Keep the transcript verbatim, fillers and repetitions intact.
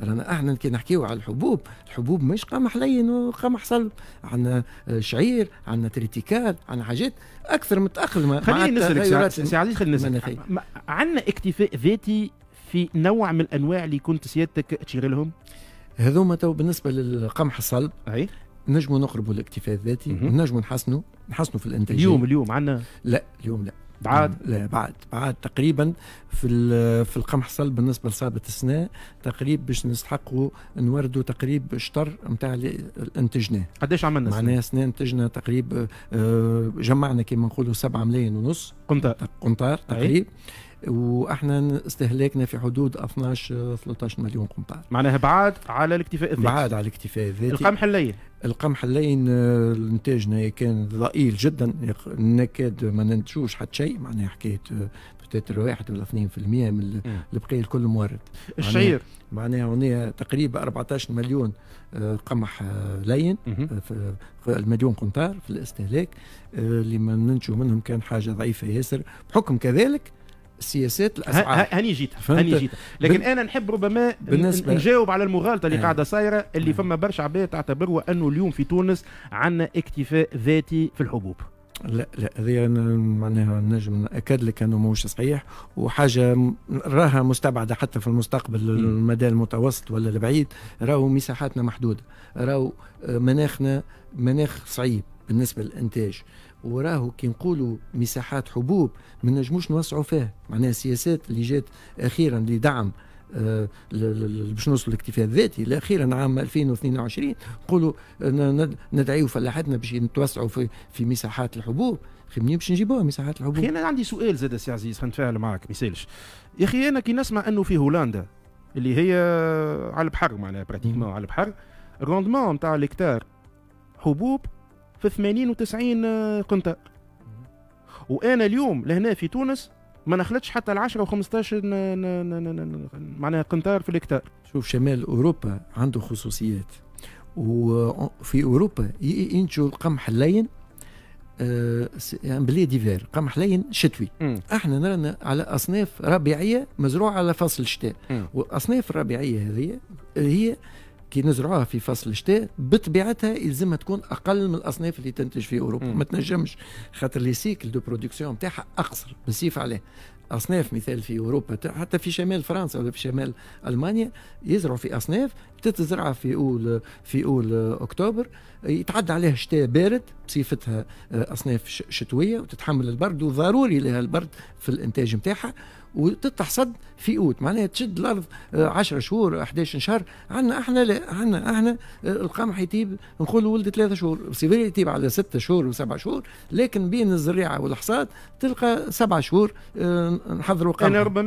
رانا احنا كي نحكيو على الحبوب، الحبوب مش قمح لين وقمح صلب، عندنا شعير، عندنا triticale، عندنا حاجات اكثر متاقلمه. خليني نسالك سي عزيز، خليني نسالك، عندنا اكتفاء ذاتي في نوع من الانواع اللي كنت سيادتك تشير لهم؟ هذوما تو بالنسبة للقمح الصلب اي نجموا نقربوا الاكتفاء الذاتي، نجموا نحسنوا نحسنوا في الانتاجية. اليوم اليوم عندنا؟ لا اليوم لا. بعد؟ لا بعد بعد تقريبا في في القمح الصلب بالنسبة لصابه السنة تقريبا باش نستحقوا نوردوا تقريبا شطر نتاع اللي انتجناه. قداش عملنا؟ معناها سنة انتجنا تقريبا جمعنا كما نقولوا سبعة ملايين ونص قنطار قنطار تقريبا، واحنا استهلاكنا في حدود اثناش ثلاثة عشر مليون قنطار. معناها بعاد على الاكتفاء الذاتي. بعاد على الاكتفاء الذاتي. القمح اللين؟ القمح اللين انتاجنا كان ضئيل جدا، نكاد ما ننتجوش حتى شيء، معناها حكاية peut-être واحد ولا اثنين في المية من البقية الكل مورد. الشعير معناها هنا تقريبا أربعة عشر مليون قمح لين في المليون قنطار في الاستهلاك، اللي ما ننتجوا منهم كان حاجة ضعيفة ياسر، بحكم كذلك سياسات الاسعار. هاني جيت هاني جيت لكن انا نحب ربما نجاوب على المغالطة اللي آه. قاعدة صايرة، اللي آه. فما برشا عباد تعتبروا انه اليوم في تونس عندنا اكتفاء ذاتي في الحبوب. لا لا، هذه معناها نجم ناكد لك انه ماهوش صحيح، وحاجه راها مستبعده حتى في المستقبل المدى المتوسط ولا البعيد. راهو مساحاتنا محدودة، راهو مناخنا مناخ صعيب بالنسبة للانتاج، وراهو كي نقولوا مساحات حبوب ما نجموش نوسعوا فيها. معناها السياسات اللي جات اخيرا لدعم آه باش نوصلوا للاكتفاء الذاتي اخيرا عام ألفين واثنين وعشرين، نقولوا ندعيوا فلاحتنا باش نتوسعوا في في مساحات الحبوب. خي منين باش نجيبوها مساحات الحبوب؟ اخي انا عندي سؤال زاد سي عزيز، خلينا نتفاعل معك ما يسالش. يا اخي انا كي نسمع انه في هولندا اللي هي على البحر، معناها pratiquement على البحر، ال rendement نتاع الهكتار حبوب في ثمانين وتسعين قنطار، وانا اليوم لهنا في تونس ما نخلطش حتى ال عشرة و خمسطاش معناها قنطار في الهكتار. شوف شمال اوروبا عنده خصوصيات، وفي اوروبا ينتجوا القمح اللين آه blé d'hiver، قمح لين شتوي. م. احنا نرانا على اصناف ربيعيه مزروعة على فصل الشتاء، والاصناف الربيعيه هذه هي كي نزرعوها في فصل الشتاء بطبيعتها يلزمها تكون اقل من الاصناف اللي تنتج في اوروبا. م. ما تنجمش، خاطر les cycles de production نتاعها اقصر بالسيف عليه. اصناف مثال في اوروبا حتى في شمال فرنسا ولا في شمال المانيا يزرعوا في اصناف تتزرع في اول في اول اكتوبر، يتعدى عليها شتاء بارد بصفتها اصناف شتوية وتتحمل البرد، وضروري لها البرد في الانتاج نتاعها، وتتحصد في اوت، معناها تشد الارض عشرة شهور أحد عشر شهر. عندنا احنا لا، عندنا احنا القمح يطيب نقولوا ولد ثلاثة شهور، c'est vrai يطيب على ستة شهور وسبع شهور، لكن بين الزريعه والحصاد تلقى سبع شهور نحضروا قمح. انا ربما